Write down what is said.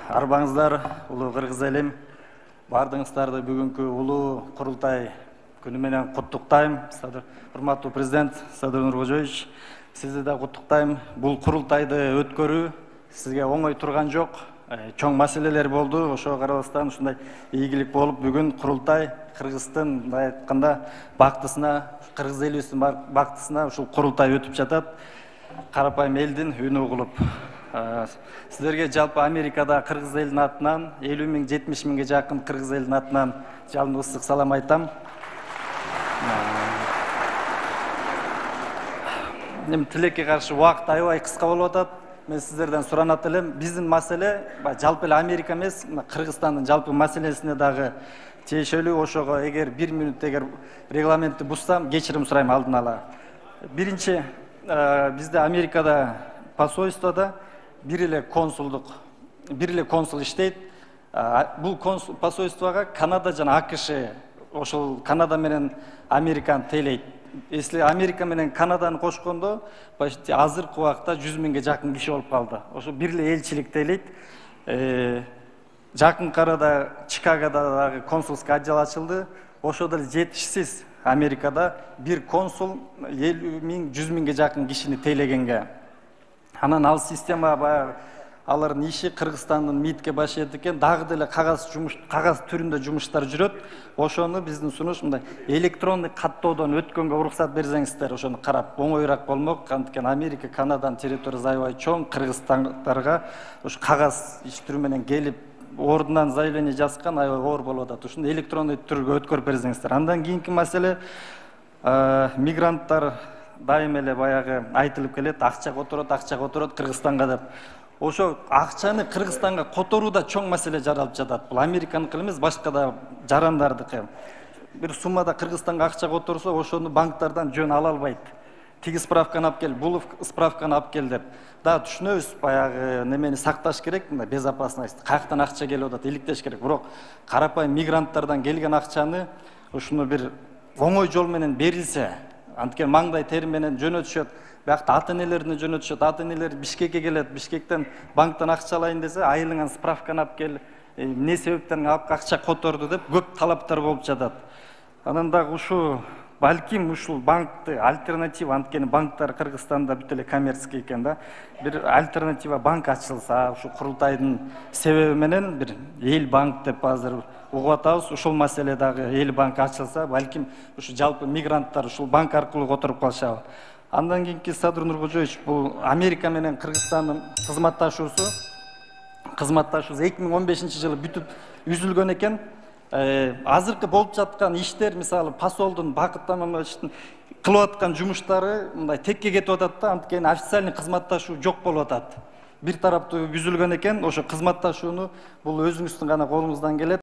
Арбаңыздар, улуу кыргыз элим. Бардыгыңыздарды бүгүнкү улуу курултай күнү менен куттуктайм. Урматтуу президент Садыр Нуркожоевич, сизди да куттуктайм. Бул курултайды өткөрүү сизге оңой турган жок. Чоң маселелер болду. Ошого карабастан ушундай ийгилик болуп, бүгүн курултай Кыргыздын мындай айтканда бактысына, кыргыз элибиздин бактысына ушул курултай өтүп жатат. Карапайым элдин үнү угулуп. Сіздерге жалпы Америкада кыргыз элдин атынан 50 миң 70 миңге жакын кыргыз элдин атынан жалын ысык салам айтам. Тилекке каршы убакыт аябай кыска болуп атат. Мен сиздерден суранат элем, биздин маселе жалпы эле Америка эмес, Кыргызстандын жалпы маселесине дагы тиешелүү. Ошого эгер 1 минут регламентти буссам, кечирим сурайм алдын ала. Биринчи, бизде Америкада посольствода бир эле консул иштейт. Бул посольствого Канада жана АКШ, ошол Канада менен Американы тейлейт. Если Америка менен Канаданы кошкондо, почти азыркы убакта 100 миңге жакын киши болуп калды. Ошо бир эле элчилик тейлейт. Жакынкы арада Чикагода дагы консулский отдел ачылды. Ошо деле жетишсиз Америкада бир консул 50 миң 100 миңге жакын кишини тейлегенге. Анан ал система баягы алардын иши Кыргызстандын МИДке баш ийет экен, дагы деле кагаз түрүндө жумуштар жүрөт. Ошону биздин сунуш мындай электрондук каттоодон өткөнгө уруксат берсеңиздер, ошону карап оңоюраак болмок. Анткени Америка, Канаданын территориясы аябай чоң, кыргызстандарга ушу кагаз иш түрү менен келип ордунан заявление жазган аябай оор болуп атат. Ушуну электрондук түргө өткөрүп берсеңиздер. Андан кийинки маселе мигранттар дайым эле баягы айтылып келет, акча которот Кыргызстанга деп. Ошо акчаны Кыргызстанга которууда чоң маселе жаралып жатат. Бул Американыкы эмес, башка да жарандардыкы. Бир суммада Кыргызстанга акча которсо, ошону банктардан жөн ала албайт. Тиги справканы алып кел, бул справканы алып кел деп. Да, түшүнөбүз, баягы немени сакташ керек, мындай безопасность. Каяктан акча келип атат, иликтеш керек. Бирок карапайым мигранттардан келген акчаны ушуну бир оңой жол менен берилсе, анткени маңдай тери менен жөнөтүшөт. Биякта ата-энелерине жөнөтүшөт, ата-энелер Бишкекке келет, Бишкектен банктан акча алайын десе, айылыңан справканы алып кел, эмне себептен акча которду деп көп талаптар болуп жатат. Анан дагы ушу балким ушул банкты альтернатива, анткени банктар Кыргызстанда бүт эле коммерческий экен да. Бир альтернатива банк ачылса, ушу курултайдын себеби менен бир эл банк деп азыр угуп атабыз. Ушул маселе дагы эл банк ачылса, балким ушу жалпы мигранттар ушул банк аркылуу которуп калышабы. Андан кийинки Садыр Нуркожоевич, бул Америка менен Кыргызстандын кызматташуусу 2015-жылы бүтүп үзүлгөн экен. Азыркы болуп жаткан иштер, мисалы посолдун Бакыт Аманбаевичтин кылып аткан жумуштары мындай текке кетип атат да, анткени официальный кызматташуу жок болуп атат. Бир тараптуу үзүлгөн экен, ошо кызматташууну бул өзүңүздүн гана колуңуздан келет.